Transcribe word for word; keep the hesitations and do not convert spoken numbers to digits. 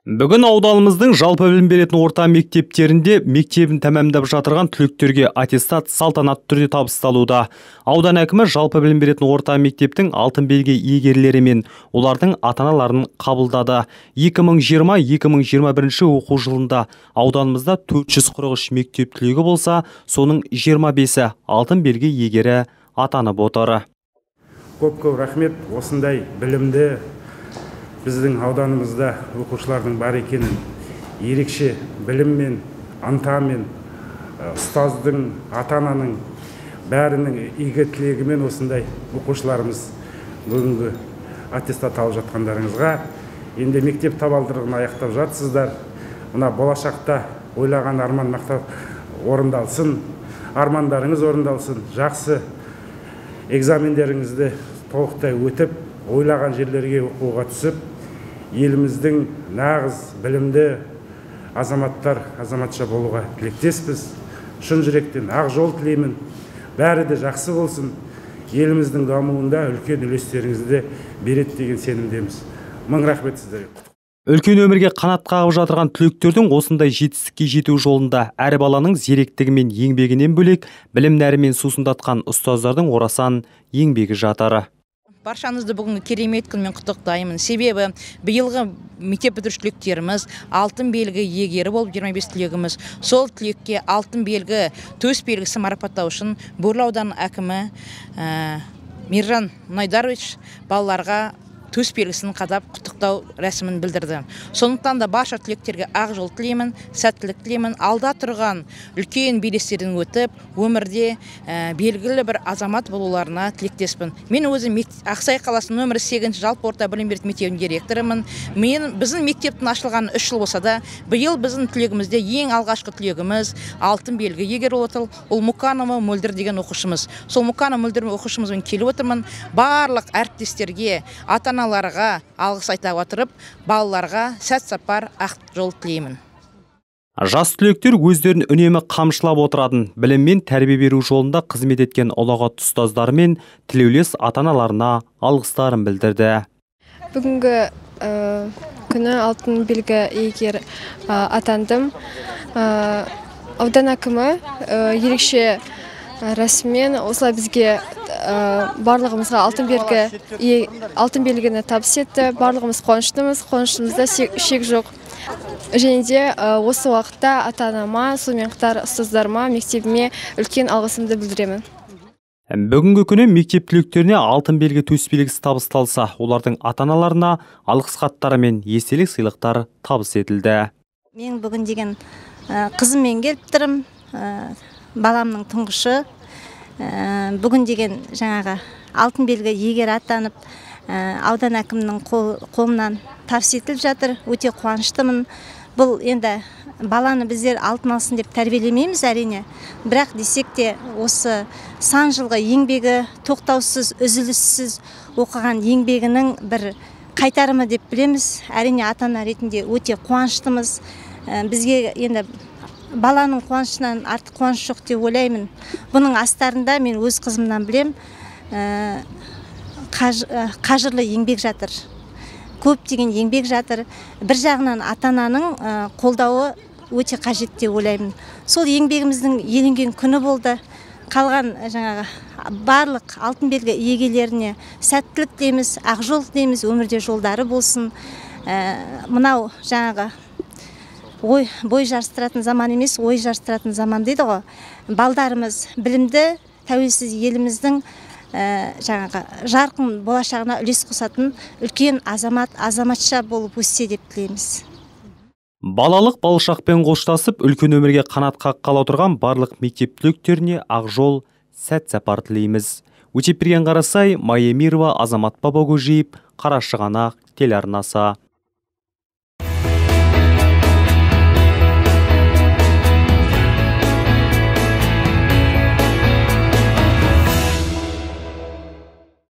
Бүгін ауданымыздың жалпы білім беретін орта мектептерінде мектебін тәмамдап жатырған түлектерге аттестат салтанатты түрде табысталуда. Аудан әкімі жалпы білім беретін орта мектептің алтын белгі иегерлері мен олардың ата-аналарын қабылдады. екі мың жиырма - екі мың жиырма бірінші оқу жылында ауданымызда төрт жүз қырық үш мектеп түлегі болса, соның жиырма бесі алтын белгі иегері атанып отыр. Көп-көп рахмет, осындай білімді біздің ауданымызда оқушылардың бар екенін, ерекше біліммен, ынтамен, ұстаздың, ата-ананың бәрінің игі тілегімен осындай оқушыларымыз бүгінгі аттестат алып жатқандарыңызға, енді мектеп табалдырығын аяқтап жатсыздар. Мына болашақта ойлаған арман мақтап орындалсын, армандарыңыз орындалсын, жақсы экзамендеріңізді толықтай өтіп, ойлаған жерлерге оқуға түсіп, еліміздің нағыз білімді азаматтар, азаматша болуға тілектеспіз. Шын жүректен ақ жол тілеймін. Бәрі де жақсы болсын. Еліміздің дамуында үлкен үлестеріңізді береді деген сенімдеміз. Мың рахмет сіздерге. Үлкен өмірге қанат қағып жатырған түлектердің осындай жетістікке жету жолында әр баланың зеректігі мен еңбегінен бөлек білім нәрімен сусындатқан ұстаздардың орасан еңбегі жатыр. Баршаңызды бүгінгі керемет күнмен құттықтаймын. Себебі биылғы мектеп бітіруші түлектеріміз алтын белгі иегері болып жиырма бес түлегіміз. Сол түлекке алтын белгі, төс белгісі марапаттау үшін Бөрлі ауданының әкімі Мейіржан Мұнайдарович балаларға төс белгісін қадап құттықтау рәсімін білдірді. Сондықтан да барша түлектерге ақ жол тілеймін, сәттілік тілеймін. Алда тұрған үлкен белестерден өтіп, өмірде белгілі бір азамат болуларына тілектеспін. Мен өзім Ақсай қаласының нөмірі сегізінші жалпы орта білім беретін мектебінің директорымын. Мен біздің мектептің ашылғаны үш жыл болса да, биыл біздің түлегімізде ең алғашқы түлегіміз алтын белгі иегері отыр. Ол Мұқанова Мөлдір деген оқушымыз. Сол Мұқанова Мөлдір оқушымызбен келіп отырмын. Барлық әріптестерге, ата аналарға алғыс айта отырып, балаларға сәт сапар ақ жол тілеймін. Жас түлектер өздерін үнемі қамшылап отыратын, білім мен тәрбие беру жолында қызмет еткен ұлағатты ұстаздары мен тілеулес ата-аналарына алғыстарын білдірді. Бүгінгі күні алтын белгі иегері атандым. Аудан әкімі ерекше рәсіммен осылай бізге барлығымызға алтын белгі алтын белгіні табыс етті. Барлығымыз қуаныштымыз, қуаныштымызда шек жоқ. Және де осы уақытта ата-анама, сонымен қатар ұстаздарыма, мектебіме үлкен алғысымды білдіремін. Бүгінгі күні мектеп түлектеріне алтын белгі төс белгісі табысталса, олардың ата-аналарына алғыс хаттары мен естелік сыйлықтар табыс етілді. Мен бүгін деген қызыммен келіп тұрмын, баламның тұңғышы. Бүгін деген жаңағы алтын белгі иегері атанып, аудан әкімінің қолынан табыс етіліп жатыр. Өте қуаныштымын. Бұл енді баланы біздер алтын алсын деп тәрбиелемейміз әрине. Бірақ десек те осы сан жылғы еңбегі, тоқтаусыз, үзіліссіз оқыған еңбегінің бір қайтарымы деп білеміз. Әрине ата-ана ретінде өте қуаныштымыз. Бізге енді баланың қуанышынан артық қуаныш жоқ деп ойлаймын. Бұның астарында мен өз қызымнан білем, қажырлы еңбек жатыр. Көптеген еңбек жатыр. Бір жағынан ата-ананың қолдауы өте қажет деп ойлаймын. Сол еңбегіміздің еленген күні болды. Қалған жаңағы барлық алтын белгі иегелеріне сәттілік дейміз, ақ жол дейміз, өмірде жолдары болсын. Мынау жаңағы ой бой жарыстыратын заман емес, ой жарыстыратын заман дейді ғой. Балдарымыз білімді, тәуелсіз еліміздің жаңағы жарқын болашағына үлес қосатын үлкен азамат, азаматша болып өссе деп тілейміз. Балалық балшақпен қоштасып, үлкен өмірге қанат қаққалы отырған барлық мектеп түлектеріне ақ жол, сәт сапар тілейміз. Өтепберген Қарасай, Майя Мирова, Азамат Бабагөжиев, Қарашығанақ телеарнасы.